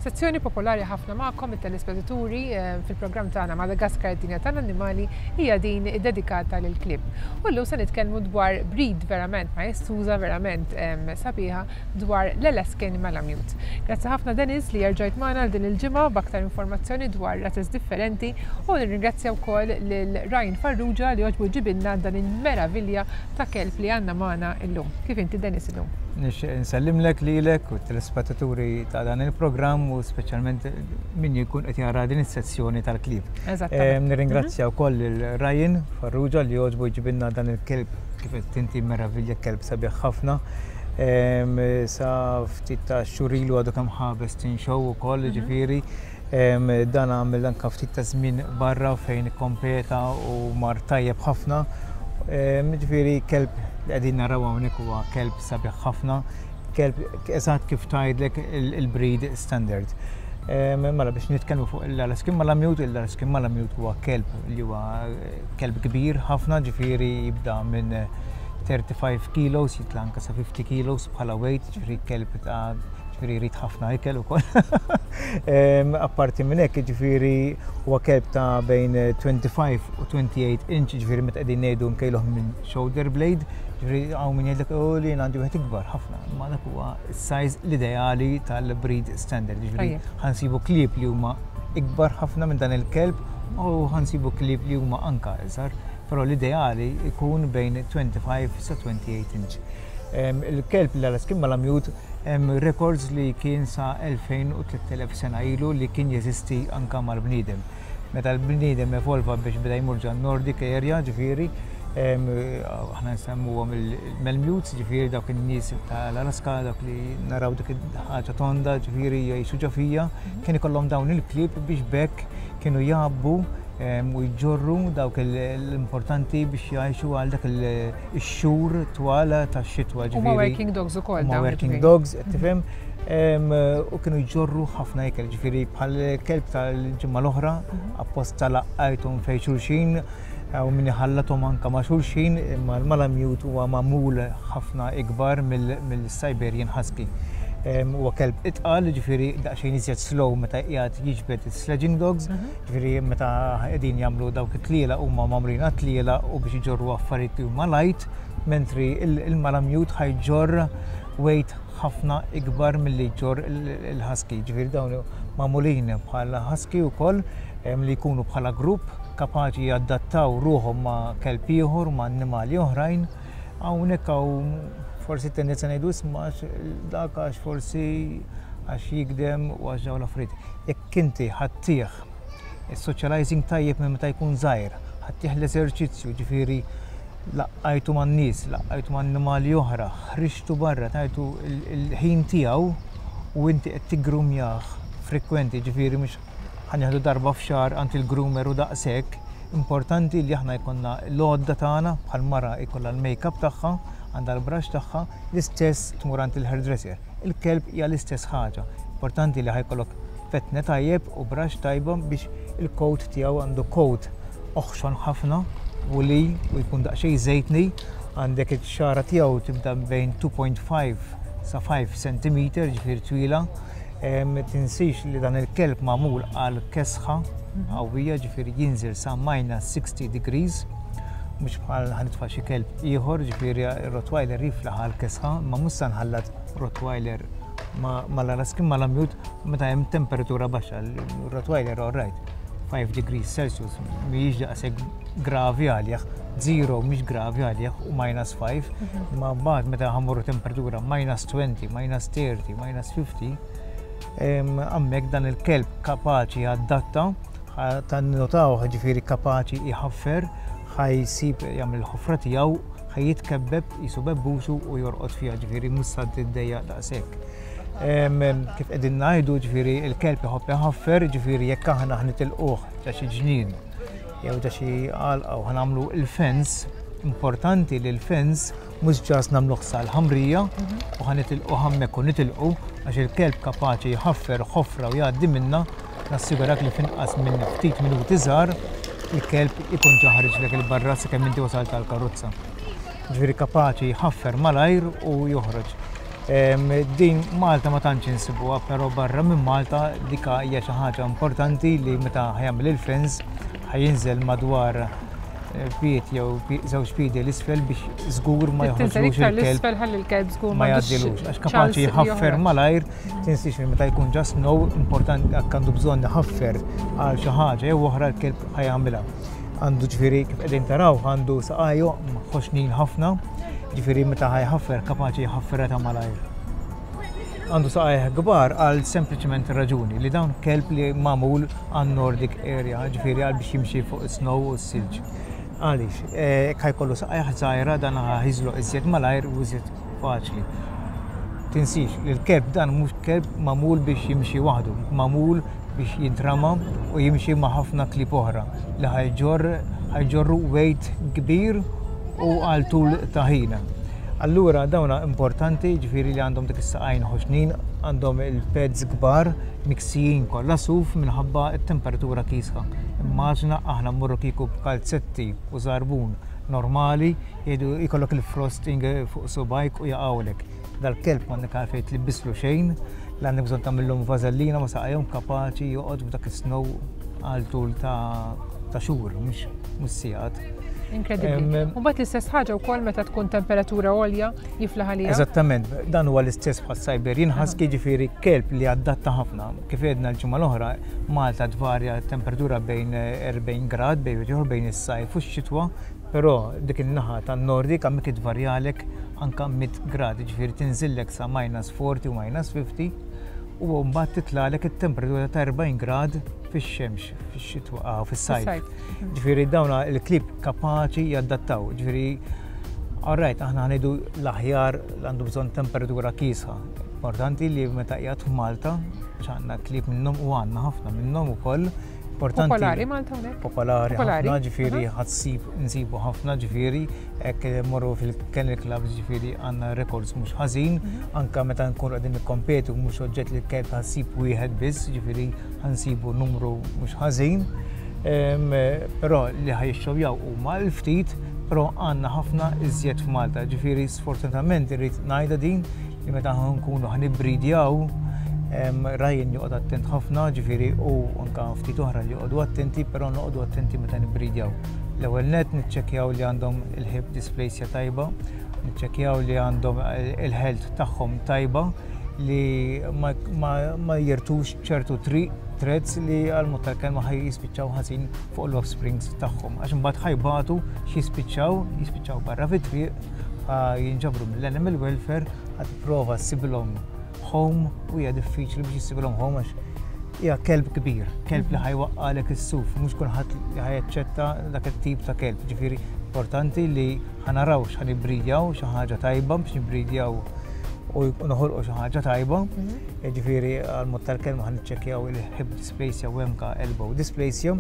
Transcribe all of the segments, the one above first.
Sezzjoni popolari ħafna magħkom it-telespettaturi fil-programm tagħna Madagaskar id-dinja tal-annimali hija din iddedikata lill-klieb. U llum se nitkellmu dwar breed verament majestuża, verament sabiħa dwar l-Alaskan Malamute. Grazzi ħafna Dennis li erġajt magħna għal din il-ġimgħa b'aktar informazzjoni dwar razez differenti u nirringrazzja wkoll lil Ryan Farrugia li għoġbu jġibilna dan il-meravilja ta' kelb li għandna magħna illum. Kif inti Dennis illum? Nixtieq insellimlek lilek u t-telespettaturi ta' dan il-programm u speċjalment min jkun qed jara din is-sezzjoni tal-klieb. Eżattament. Nirringrazzja wkoll lil Ryan Farrugia li għoġbu jġibilna dan il-kelb kif qed inti meravilja kelb sabiħ ħafna. Sa ftit ta' xhur ilu għadu kemm ħa Best in Show ukoll, ġifieri. Dan għamel anka ftit ta' żmien barra fejn ikkompeta u mar tajjeb ħafna. Ġifieri kelb li qegħdin naraw hawnhekk huwa kelb sabiħ ħafna, kelb eżatt kif tgħidlek il-breed standard. Mela biex nitkellmu fuq l-Alaskan Malamute, l-Alaskan Malamute huwa kelb li huwa kelb kbir ħafna, ġifieri jibda minn 35 kilos, jitla' anka sa 50 kilos bħala weight, ġifieri kelb ta' ġifieri jrid ħafna ikel ukoll. Apparti minn hekk, ġifieri huwa kelb ta' bejn 25 u 28 inch, ġifieri meta qegħdin ngħidu nkejluh minn shoulder blade, ġifieri hawn min jgħidlek oh li jien għandi wieħed ikbar ħafna, imma dak huwa s-size l-ideali tal-breed standard, ġifieri ħansibu klieb li huma ikbar ħafna minn dan il-kelb u ħansibu klieb li huma anka iżgħar, però l-ideali jkun bejn 25 sa 28 inch. Il-kelb l-Alaskan Malamute hemm records li kien sa 2000 u 3000 sena ilu li kien jeżisti anka mal-bniedem. Meta l-bniedem evolva biex beda jmur ġan Nordic area, ġifieri, aħna nsemmuhom il-Malamutes, ġifieri dawk in-nies tal-Alaska, dawk li naraw dik ħaġa tonda, ġifieri jgħixu ġo fija, kien ikollhom dawn il-klieb biex b'hekk kienu jgħabbu u jġorru dawk l-importanti biex jgħixu għal dak ix-xhur twal tax-xitwa. Huma working dogs ukoll. Huma working dogs, qed tifhem. U kienu jġorru ħafna ikel, ġifieri bħal kelb tal-ġimgħa l-oħra, apposta laqqajthom fejn xulxin, u min iħallathom anka ma' xulxin, imma l-Malamute huwa magħmul ħafna ikbar mill-Siberian Husky. Huwa kelb itqal, ġifieri daqsxejn iżjed slow meta qiegħed jiġbed is-sledging dogs, ġifieri meta qegħdin jagħmlu dawk it-tlielaq huma magħmulin għat-tlielaq u biex iġorru affarijiet li huma light, mentri il-Malamute ħa jġorr weight ħafna ikbar milli jġorr il-Husky. Ġifieri dawn magħmulin bħala Husky wkoll li jkunu bħala grupp kapaċi jadattaw ruħhom ma' kelb ieħor, ma' annimali oħrajn. Hawnhekk hawn forsi tendenza ngħidu isma' dak għax forsi għax jigdem u għax dawn l-affarijiet. Jekk inti ħattih is-socializing tajjeb minn meta jkun żgħir, ħattih l-eżerċizzju, ġifieri laqqajtu man-nies, laqqajtu ma' annimali oħra, ħriġtu barra, tajtu il-ħin tiegħu u inti qed tiggrumjah frekwenti, ġifieri mhux ħa nieħdu darba f'xahar għand il-groomer u daqshekk, importanti li aħna jkollna l-għodda tagħna bħal mara jkollha l-makeup tagħha, għandha l-brush tagħha, l-istess tmur għand il-hairdresser. Il-kelb hija l-istess ħaġa. Importanti li ħa jkollok fetne tajjeb u brush tajba biex il-coat tiegħu għandu coat oħxon ħafna woolly u jkun daqsxejn żejtni, għandek ix-xagħra tiegħu tibda bejn 2.5 sa 5 cm, ġifieri twila. Tinsix li dan il-kelb magħmul għal kesħa qawwija, ġifieri jinżel sa minus 60 degrees, mhux bħal ħa nitfa' xi kelb ieħor, ġifieri Rottweiler jiflaħ għal kesħa, imma mhux sa nħallat Rottweiler mal-Alaskan Malamute meta hemm temperatura baxxa. Rottweiler all right, 5 degrees Celsius mhijiex daqshekk gravi għalih, 0 mhix gravi għalih u minus 5, ma mbagħad meta ħa mmorru temperatura minus 20, minus 30, minus 50, hemmhekk dan il-kelb kapaċi jadatta, tan-notaw ġifieri kapaċi jħaffer, ħa jsib jagħmel il-ħofra tiegħu, ħa jitkebbeb jisu bebbusu u jorqod fiha, ġifieri mhux sa tiddejjaq daqshekk. Kif qegħdin ngħidu, ġifieri il-kelb iħobb iħaffer, ġifieri jekk aħna ħnitilquh ġa xi ġnien jew ġa xi għalqa u ħanagħmlu il-fence, importanti li l-fence mhux ġas nagħmluh sal-ħamrija u ħanitilqu hemmhekk u nitilqu għax il-kelb kapaċi jħaffer ħofra u jgħaddi minna, nassigurak li f'inqas minn ftit minuti żgħar il-kelb ikun ġa ħariġlek il-barra sakemm inti wasalt għall-karozza. Ġifieri kapaċi jħaffer malajr u joħroġ. Din Malta ma tantx insibuha, però barra minn Malta dika hija xi ħaġa importanti li meta ħa jagħmel il-fence ħa jinżel madwar pied jew żewġ piedi l-isfel biex żgur ma joħroġlux il-kelb. ħalli l-kelb żgur ma jgħaddilux għax kapaċi jħaffer malajr tinsiex li meta jkun ġa snow importanti jekk għandu bżonn iħaffer għal xi ħaġa jew oħra l-kelb ħa jagħmilha. Għandu ġifieri kif qegħdin taraw għandu saqajju ħoxnin ħafna, ġifieri meta ħa jħaffer kapaċi jħafferha ta' malajr. Għandu saqajh kbar għal sempliċement raġuni li dawn kelb li magħmul għan Nordic area, ġifieri għal biex jimxi fuq is-snow u s-silġ. Għaliex, jekk ħa jkollu saqajh żgħira dan ħa jiżloq iżjed malajr u iżjed faċli. Tinsix li l-kelb dan mhux kelb magħmul biex jimxi waħdu, magħmul biex jintrama u jimxi ma' ħafna klieb oħra li ħa jġorr ħa jġorru weight kbir u għal tul ta' ħin. Allura dawna importanti ġifieri li għandhom dik is-saqajn ħoxnin, għandhom il-pads kbar miksijin kollha suf minħabba t-temperatura kiesħa. Immaġina aħna mmorru kieku b'kalzetti u żarbun normali jgħidu jkollok il-frosting fuq subgħajk u jaqgħulek. Dal-kelb m'għandek għalfejn tlibbislu xejn, la għandek bżonn tagħmillhom vażellina ma saqajhom kapaċi joqgħod f'dak is-snow għal tul ta' xhur mhux sigħat. Inkredibbli. U mbagħad l-istess ħaġa wkoll meta tkun temperatura għolja jiflaħ għaliha. Eżattament, dan huwa l-istess bħas Siberian Husky ġifieri kelb li adatta ħafna. Kif għedna l-ġimgħa l-oħra, Malta tvarja temperatura bejn 40 grad bejn ieħor bejn is-sajf u x-xitwa, però dik in-naħa tan-Nordik hemmhekk tvarjalek anka 100 grad, ġifieri tinżillek sa minus 40 u minus 50 u mbagħad titlagħlek it-temperatura ta' 40 grad fix-xemx, fix-xitwa, ah, fis-sajf. Ġifieri dawna il-klieb kapaċi jadattaw, ġifieri Alright, aħna ħa ngħidu l-aħjar għandu bżonn temperatura kiesħa. Importanti li meta qiegħed f'Malta, għandna klieb minnhom u għandna ħafna minnhom ukoll. Importanti. Popolari Malta hawnhekk? Popolari ħafna, ġifieri ħa ssib nsibu ħafna ġifieri, hekk morru fil-kennel clubs ġifieri għandna records mhux ħażin, anka meta nkunu qegħdin nikkompetu mhux oġġett li kelb ħa ssib wieħed biss, ġifieri ħa nsibu numru mhux ħażin. Però li ħa jixxowjaw huma l-ftit, però għandna ħafna iżjed f'Malta. Ġifieri sfortunatament irrid ngħidha din li meta nkunu ħa nibbridjaw Ryan joqgħod attent ħafna, ġifieri u anka ftit oħra li joqogħdu attenti, però noqogħdu attenti meta nibbridjaw. L-ewwel net niċċekkjaw li għandhom il-hip dysplasia tajba, niċċekkjaw li għandhom il-health tagħhom tajba li ma, ma, ma jirtux ċertu traits li għal mod tal-kelma ħaj jispiċċaw ħażin fuq l-offsprings tagħhom. Għax imbagħad ħa jbatu x'jispiċċaw, jispiċċaw barra fit-triq, jinġabru mill-animal welfare, ħa tipprova ssibilhom home u hija diffiċli biex issibilhom home għax hija kelb kbir, kelb li ħa jwaqqagħlek is-suf, mhux kulħadd li ħa jaċċetta dak it-tip ta' kelb. Ġifieri importanti li ħa naraw x'ħa nibbridjaw xi ħaġa tajba biex nibbridjaw u noħolqu xi ħaġa tajba. Ġifieri għal mod tal-kelma ħa niċċekkjaw il-hip dysplasia u anka elbow dysplasia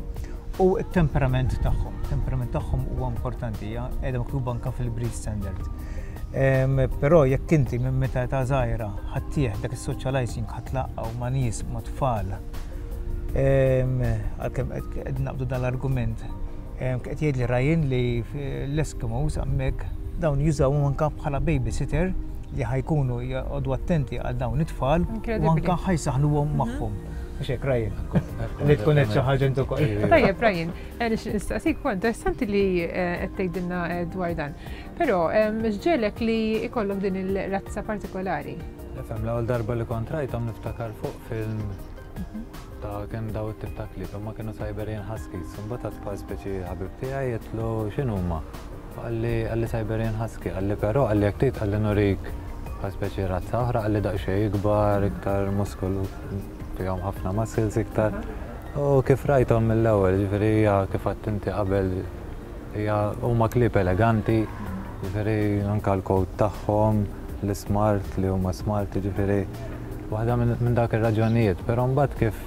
u t-temperament tagħhom. Temperament tagħhom huwa importanti, hija qiegħda miktuba anka fil-breed standard. Però jekk inti minn meta ta' żgħira ħa ttih dak is-socializing ħa tlaqqgħu ma' nies ma' tfal. Għalkemm qed naqbdu dal-argument. Qed jgħidli Ryan li l-Eskimos hemmhekk dawn jużawhom anka bħala babysitter li ħa jkunu joqogħdu attenti għal dawn it-tfal u anka ħa jsaħħnuhom magħhom. Mhux hekk Ryan? Li tkun qed xi ħaġa intu ukoll. Tajjeb Ryan, nistaqsik interessanti li qed tgħidilna dwar dan. Però, x'ġegħlek li jkollok din il-razza partikolari? Nifhem, l-ewwel darba li kont rajthom niftakar fuq film ta' kien daw it-tip ta' klieb, imma kienu Siberian Huskies. Imbagħad għad bħal speċi ħabib tiegħi għedtlu x'inhuma? Qalli qalli Siberian Husky, qalli però qalli jekk trid qalli nurik bħal speċi razza oħra qalli daqsxejn ikbar, iktar muskolu, fihom ħafna muscles iktar. U kif rajthom mill-ewwel, ġifieri hija kif għedt inti qabel Hija huma klieb eleganti, jiġifieri anke l-coat tagħhom, l-ismart li huma smart, jiġifieri waħda minn dak ir-raġunijiet. Però mbagħad kif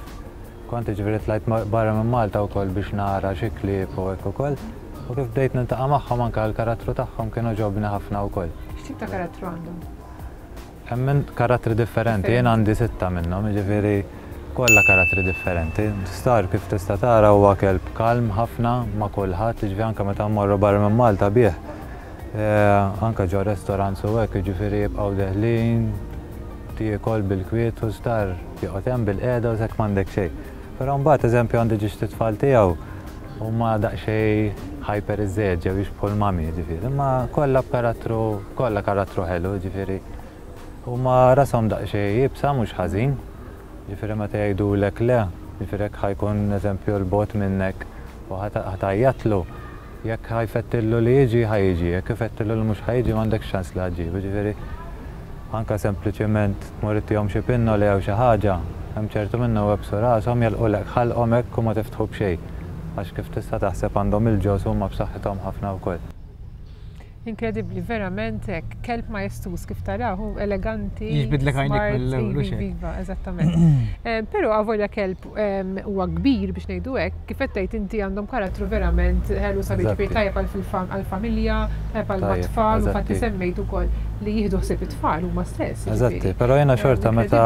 kont jiġifieri tlajt barra minn Malta wkoll biex nara xi klieb u hekk ukoll, u kif bdejt niltaqa' magħhom anke l-karattru tagħhom kien għoġobni ħafna wkoll. X'tip ta' karattru għandhom? Hemm karattri differenti, jien għandi sitta minnhom, jiġifieri kollha karattri differenti. Star kif tista' tara huwa kelb kalm ħafna ma' kulħadd, jiġifieri anke meta mmorru barra minn Malta bih, anke ġo restaurants u hekk, jiġifieri jibqgħu deħlin. joqgħod jiekol bil-kwiet u star joqgħod hemm bilqiegħda u hekk m'għandek xejn. Però mbagħad eżempju għandi ġiex tfal tiegħu huma daqsxejn hyper iżżejjed ġew jixbħu l-mami ġifieri, imma kollha b'karattru kollha karattru ħelu ġifieri huma rashom daqsxejn iebsa mhux ħażin. Ġifieri meta jgħidulek le, ġifieri jekk ħa jkun eżempju 'l bogħod minnek u ħa tgħajjatlu, jekk ħa jfettillu li jiġi, ħa jiġi, jekk ifettillu li mhux ħa jiġi m'għandekx ċans li ħa ġġibu. Ġifieri anke sempliċiment tmur ittihom xi pinnoli jew xi ħaġa, hemm ċertu minnhom iwebbsu rashom, jagħlqulek ħalqhom hekk u ma tiftħu b'xejn. Għax kif tista' taħseb għandhom il-ġoż u huma b'saħħithom ħafna wkoll. Inkredibbli, verament hekk, kelb majestuż kif taraw, hu eleganti. Jiġbidlek għajnek mill-ewwel u xejn. Iva, eżattament. Eh, però avolja kelb ehm, huwa kbir biex ngħidu hekk, kif qed tgħid inti għandhom karattru verament ħelu sabiħ ġifieri tajjeb għall-familja, tajjeb għall-tfal, u fatti semmejt ukoll li jieħdu ħsieb it-tfal huma stess. Eżatti, però jiena xorta meta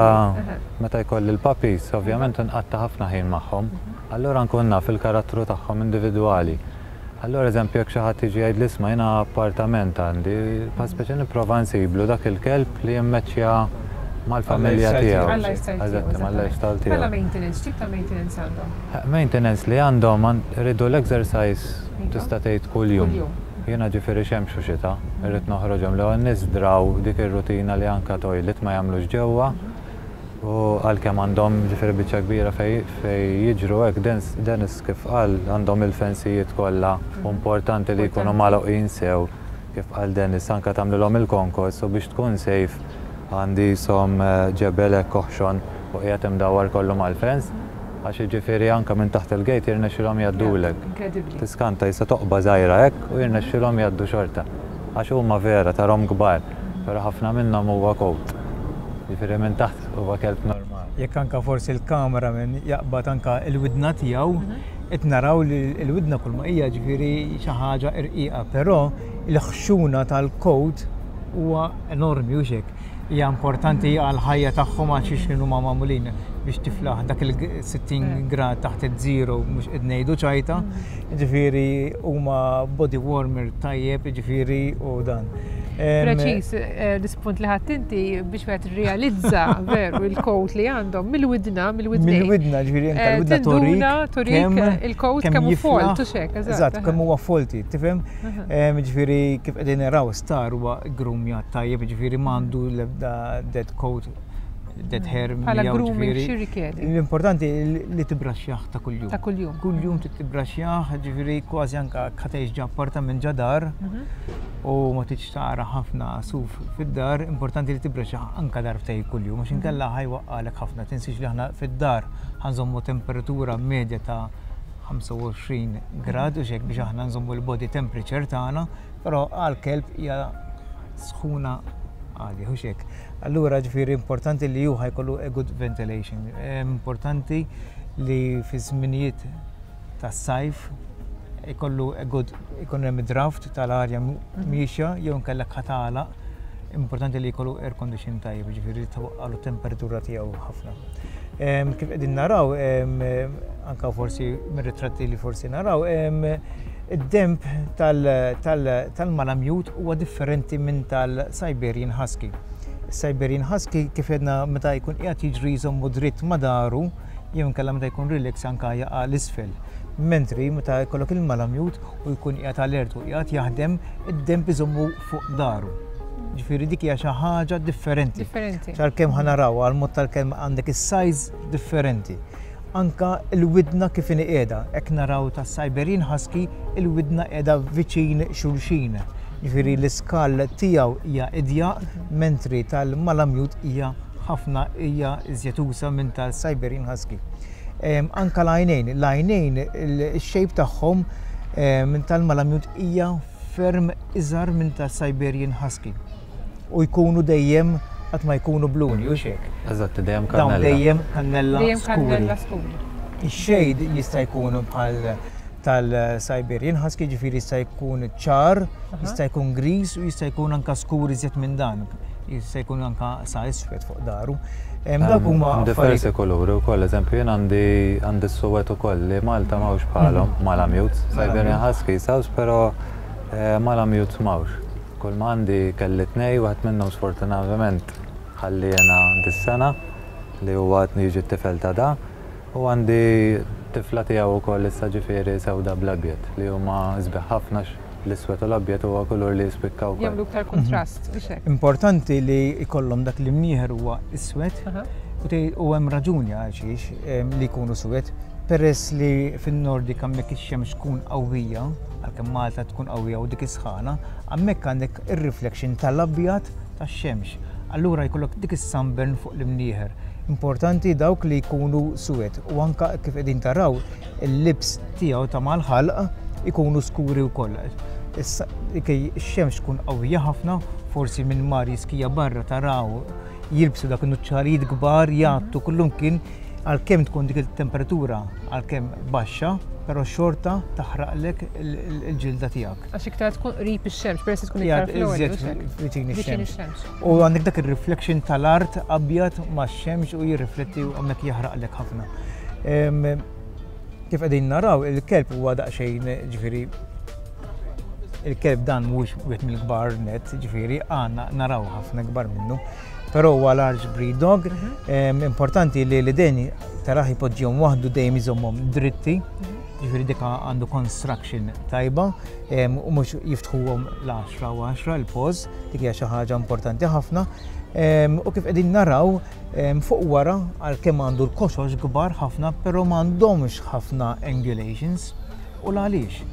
meta jkolli l-puppies, ovvjament nqatta' ħafna ħin magħhom. Mhm. Allura nkun naf il-karattru tagħhom individwali. Allura eżempju jekk xi ħadd jiġi jgħidli isma' jiena appartament għandi, bħal speċi nipprova nsiblu dak il-kelb li jimmeċċja mal-familja tiegħu. Għal-lifestyle tiegħu. Eżatt, mal-lifestyle tiegħu. Bħala maintenance, x'tip ta' maintenance għandhom? Maintenance li għandhom iridu l-exercise tista' tgħid kuljum. Jiena ġifieri xemx u xita, irrid noħroġhom l-ewwel nies draw dik ir-rutina li anke toilet ma jagħmlux ġewwa. U għalkemm għandhom ġifieri biċċa kbira fejn fejn jiġru hekk, Dennis kif qal għandhom il-fensijiet kollha u importanti li jkunu magħluqin sew kif qal Dennis anke tagħmlilhom il-konkos u biex tkun safe għandi qishom ġebel hekk oħxon u qiegħed imdawwar kollu mal-fence għax jiġifieri anke minn taħt il-gate jirnexxilhom jgħaddulek. Tiskanta qisha toqba żgħira hekk u jirnexxilhom jgħaddu xorta. Għax huma vera tarhom kbar, però ħafna minnhom huwa coat. Jiġifieri minn taħt huwa kelb normali. Jekk anka forsi l-cameraman jaqbad anka l-widna tiegħu, qed naraw li l-widna kull ma hija ġifieri xi ħaġa irqiqa, però l-ħxuna tal-coat huwa enormi hux hekk. Hija importanti għall-ħajja tagħhom għal xiex huma magħmulin biex tiflaħ dak il-60 grad taħt iż-zero mhux qed ngħidu ċajta. Ġifieri huma body warmer tajjeb, ġifieri u dan. Preċis, eh, l-ispunt li ħadd inti biex wieħed realizza veru il-kowt li għandhom mill-widna, mill-widna. Mill-widna, ġifieri anke eh, l-widna torik. Torik il-kowt kemm hu folt u xek, eżatt. Kemm huwa folti, tifhem? Ġifieri kif qegħdin naraw star huwa grumja tajjeb, ġifieri m'għandu l-ebda dead coat dead hair. Bħala grooming xi rikjedi? L-importanti li tibraxxjah ta' kuljum. Ta' kuljum. Kuljum tibraxxjah, ġifieri kważi anka ħatejx ġa appartament ġa dar mhm. u ma tridx tara ħafna suf fid-dar, importanti li tibraxxjah anka darbtej kuljum, għax inkella mhm. ħajwaqqalek ħafna. Tinsiex li aħna fid-dar ħanżommu temperatura medja ta' 25 grad u xek biex aħna nżommu l-body temperature tagħna, però għal kelb hija sħuna għali, hux hekk. Allura ġifieri importanti li hu ħajkollu a good ventilation. Importanti li fi żminijiet tas-sajf ikollu a good ikun hemm draft tal-arja miexja jew inkella katala. Importanti li jkollu air condition tajjeb, ġifieri tawaqqalu temperatura tiegħu ħafna. Kif qegħdin naraw, anka forsi mir-ritratti li forsi naraw, id-demb tal-malamute huwa differenti minn tal-Siberian Husky. Siberian Husky kif jedna meta jkun qiegħed jiġri jżommu dritt ma' daru jew inkella meta jkun relax anka jaqa' l-isfel. Mentri meta jkollok il-malamute u jkun qiegħed alert u qiegħed jaħdem, id-demb iżommu fuq daru. Ġifieri dik hija xi ħaġa differenti. Differenti. Għalkemm ħa naraw għal mod tal-kelma għandek is-size differenti. Anka l-widna kif inhi qiegħda, hekk naraw ta' Siberian Husky il-widna qiegħda viċin xulxin. Ġifieri l-iskall tiegħu hija idjaq, mentri tal-Malamute hija ħafna hija iżjed usa minn tal-Siberian Husky. Anka l-għajnejn, l-għajnejn il-shape tagħhom minn tal-Malamute hija ferm iżgħar minn tal-Siberian Husky. U jkunu dejjem qatt ma jkunu bluni, u xek. Eżatt, dejjem kannella. Dawn dejjem kannella Dejjem kannella skuri. Ix-shade jista' jkun bħal tal-Siberian Husky, ġifieri jista' jkun ċar, jista' jkun gris u jista' jkun anka skur iżjed minn dan. Jista' jkun anka sa iswed fuq daru. Dawk huma diversi kuluri wkoll, eżempju jien għandi għandi s-suwed ukoll li Malta m'hawnx bħalhom, Malamutes, Siberian Husky saws, però eh, Malamutes m'hawnx. Kull ma għandi kelli tnej, wieħed minnhom sfortunatament. ħalliena dis-sena li huwa qed jiġi t-tifel ta' da u għandi tifla tiegħu wkoll issa ġifieri sewda bl-abjad li huma sbieħ ħafna l-iswed u l-abjad huwa kulur li jispikka wkoll. Jagħmlu iktar kuntrast, mhux hekk? Importanti li jkollhom dak l-imnieħer huwa iswed u hemm raġuni għalxiex li jkunu suwed. Peress li fin-Nordik hemmhekk ix-xemx tkun qawwija, għalkemm Malta tkun qawwija u dik is-sħana, hemmhekk għandek ir-reflection tal-abjad tax-xemx. Allura jkollok dik is-sunburn fuq l-imnieħer. Importanti dawk li jkunu suwed u anka kif qegħdin taraw il-lips tiegħu ta' mal-ħalq ikunu skuri wkoll. Ix-xemx tkun qawwija ħafna, forsi minn mar jiskija barra taraw jilbsu dak in-nuċċalijiet kbar jgħattu kullumkien għalkemm tkun dik il-temperatura għalkemm baxxa, però xorta taħraqlek il-ġilda tiegħek. Għax iktar tkun qrib ix-xemx, peress tkun iktar fl-għoli. Viċin ix-xemx. U għandek dak ir-reflection tal-art abjad max-xemx u jirrifletti u hemmhekk jaħraqlek ħafna. Kif qegħdin naraw, il-kelb huwa daqsxejn ġifieri il-kelb dan mhux wieħed mill-kbar net, ġifieri għandna naraw ħafna kbar minnu. Però huwa large breed dog, importanti li l-idejn taraħ jpoġġihom waħdu dejjem iżommhom dritti, ġifieri dik għandu construction tajba u mhux jiftħuhom l-10 u 10 il-poż, dik hija xi ħaġa importanti ħafna. U kif qegħdin naraw fuq wara għalkemm għandu l-koxox kbar ħafna, però m'għandhomx ħafna angulations. U l-għaliex?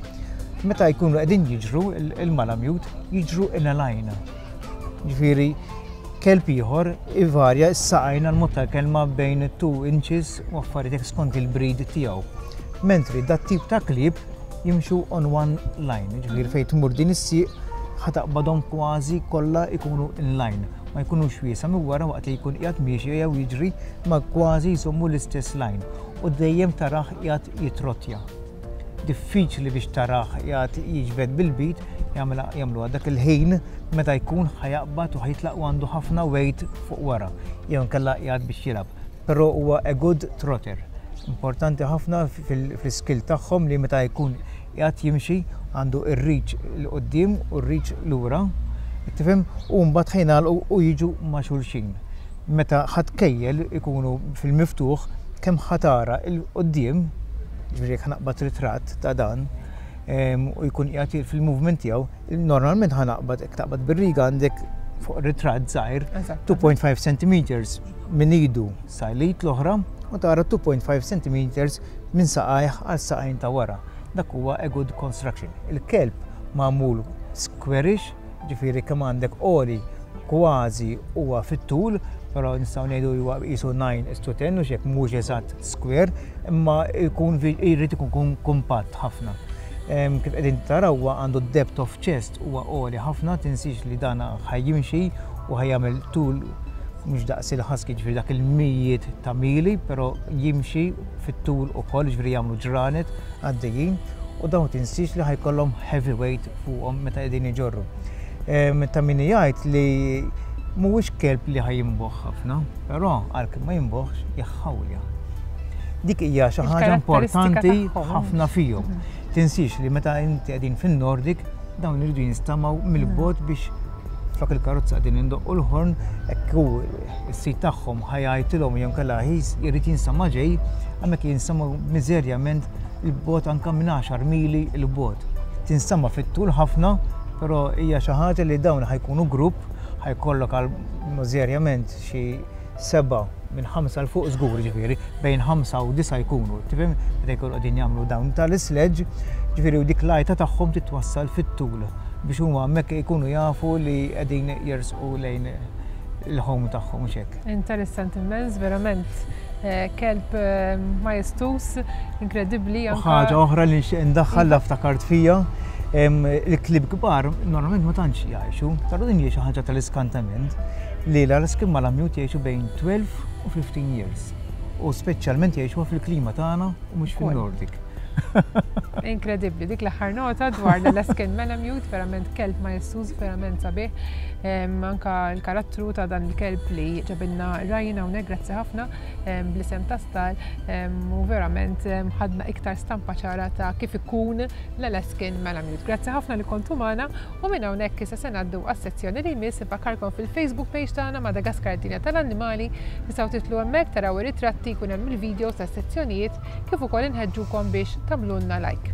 Meta jkunu qegħdin jiġru il-malamute jiġru in a line. Ġifieri kelb ieħor ivarja s-saqajn għal mod tal-kelma bejn 2 inches u affarijiet skont il-breed tiegħu. Mentri dat tip ta' klieb jimxu on one line, ġifieri fejn tmur din is-sieq ħa taqbadhom kważi kollha jkunu in line. Ma jkunux wiesa' minn wara waqt li jkun qiegħed miexi jew jiġri ma kważi jżommu l-istess line u dejjem tarah qiegħed jitrottja. Diffiċli biex tarah qiegħed jiġbed bil-bit, jagħmluha dak il-ħin meta jkun ħa jaqbad u ħa jitlaq u għandu ħafna weight fuq wara jew inkella qiegħed biex jilgħab. Però huwa a good trotter. Importanti ħafna fl-skill tagħhom li meta jkun qiegħed jimxi għandu r-reach 'l quddiem u r-reach lura, tifhem, u mbagħad ħa jingħalqu u jiġu ma' xulxin. Meta ħa tkejjel ikunu fil-miftuħ kemm ħa tara 'l quddiem, ġifieri jekk ħa naqbad ritratt ta' dan u jkun qiegħed fil-movement tiegħu, normalment ħa naqbad jekk taqbad bir-riga għandek fuq ritratt żgħir 2.5 centimeters minn idu sa l-id l-oħra u tara 2.5 centimeters minn saqajh għal saqajn ta' wara. Dak huwa a good construction. Il-kelb magħmul squarish, ġifieri kemm għandek għoli kważi huwa fit-tul, però nistgħu ngħidu huwa qisu 9 is to 10 u x'hekk mhux eżatt square, imma jkun jrid ikun kumpatt ħafna. Kif qegħdin taraw huwa għandu depth of chest huwa għoli ħafna, tinsiex li dan ħa jimxi u ħa jagħmel tul mhux daqs il-husky ġifieri dak il-mijiet ta' mili, però jimxi fit-tul ukoll, ġifieri jagħmlu ġranet għaddejjin u dawn tinsiex li ħa jkollhom heavy weight fuqhom meta qegħdin iġorru. Ta' min jgħid li mhuwiex kelb li ħa jinboħ ħafna, però għalkemm ma jinboħx jħawlja. Dik hija xi ħaġa importanti ħafna fihom. Tinsiex li meta inti qegħdin fin-Nordic dawn iridu jinstamaw mill-bogħod biex flok il-karozza qegħdin indoqqu l-ħorn, hekk hu s-sid tagħhom ħa jgħajtilhom jew inkella jrid jinsama' ġej, hemmhekk jinsama' miżerjament il-bogħod anke minn 10 mili 'l bogħod. Tinstama' fit-tul ħafna, però hija xi ħaġa li dawn ħa jkunu grupp, ħa jkollok għal miżerjament xi sebgħa minn ħamsa 'l fuq żgur ġifieri, bejn ħamsa u disa' jkunu, tifhem, meta jkunu qegħdin jagħmlu dawn tal-isledge, ġifieri u dik l-għajta tagħhom titwassal fit-tul biex huma hemmhekk ikunu jafu li qegħdin jersqu lejn il-home tagħhom mhux hekk. Interessanti immens, verament kelb majestuż, inkredibbli. U ħaġa oħra li nixtieq indaħħal la ftakart fija, il-klieb kbar normalment ma tantx jgħixu, però din hija xi ħaġa tal-iskantament li l-Alaskan Malamute jgħixu bejn 12 u 15 years. U speċjalment jgħixuha fil-klima tagħna u mhux fin-Nordic. Inkredibbli, dik l-aħħar nota dwar l-Alaskan Malamute, verament kelb majestuż, verament sabiħ. Anka l-karattru ta' dan il-kelb li ġabilna Ryan hawnhekk, grazzi ħafna bl-isem ta' Star, u verament ħadna iktar stampa ċara ta' kif ikun l-Alaskan Malamute. Grazzi ħafna li kontu magħna u minn hawnhekk issa se ngħaddu għas-sezzjoni li jmiss. Infakkarkom fil-Facebook page tagħna Madagaskar Dinja tal-Annimali, tistgħu titlu hemmhekk taraw ir-ritratti, jkun hemm il-videos tas-sezzjonijiet kif ukoll inħeġġukom biex tagħmlulna like.